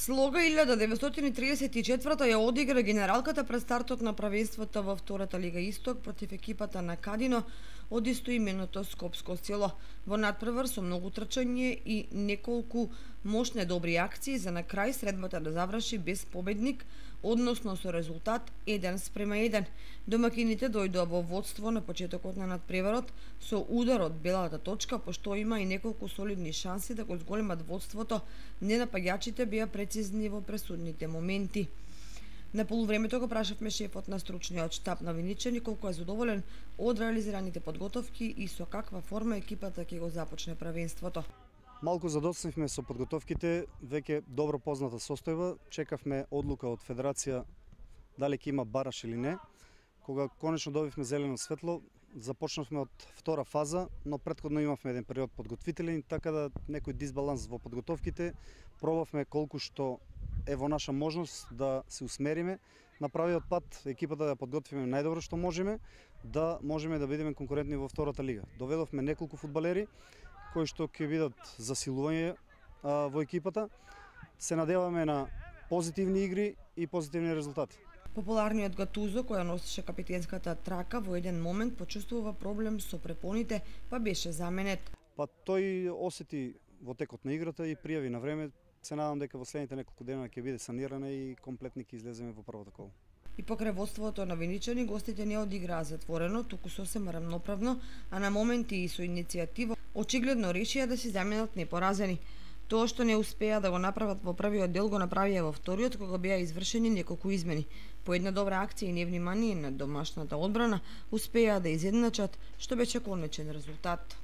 Слога 1934 ја одигра генералката пред стартот на правенството во втората Лига Исток против екипата на Кадино од истоименото скопско село. Во надпревар со многу трчање и неколку мощни добри акции за на крај средбата да заврши без победник, односно со резултат 1:1. Домакините дојдоа во водство на почетокот на надпреварот со удар од белата точка, пошто има и неколку солидни шанси да го зголемат водството. Ненапаѓачите беа прецизни во пресудните моменти. На полувремето го прашавме шефот на стручниот штаб на Виничани колку е задоволен од реализираните подготовки и со каква форма екипата ќе го започне правенството. Малку задоцнивме со подготовките, веќе добро позната состојба, чекавме одлука од Федерација дали ќе има бараш или не. Кога конечно добивме зелено светло, започнавме од втора фаза, но претходно имавме еден период подготвителен, така да некој дисбаланс во подготовките, пробавме колку што е во наша можност да се усмериме на правиот пат, екипата да подготвиме најдобро што можеме да бидеме конкурентни во втората лига. Доведовме неколку фудбалери кои што ќе бидат засилување во екипата. Се надеваме на позитивни игри и позитивни резултати. Популарниот Гатузо, која носеше капитенската трака, во еден момент почувствува проблем со препоните, па беше заменет. Тој осети во текот на играта и пријави на време. Се надам дека во следните неколку дена ќе биде санирана и комплетни ќе излеземе во првото коло. И покрај водството на Виничани, гостите не одиграа затворено, туку сосем рамноправно, а на моменти и со иницијатива очигледно решија да се заменат непоразени. Тоа што не успеа да го направат во првиот дел, го направија во вториот, кога беа извршени неколку измени. По една добра акција и невнимание на домашната одбрана, успеа да изедначат, што беше конечен резултат.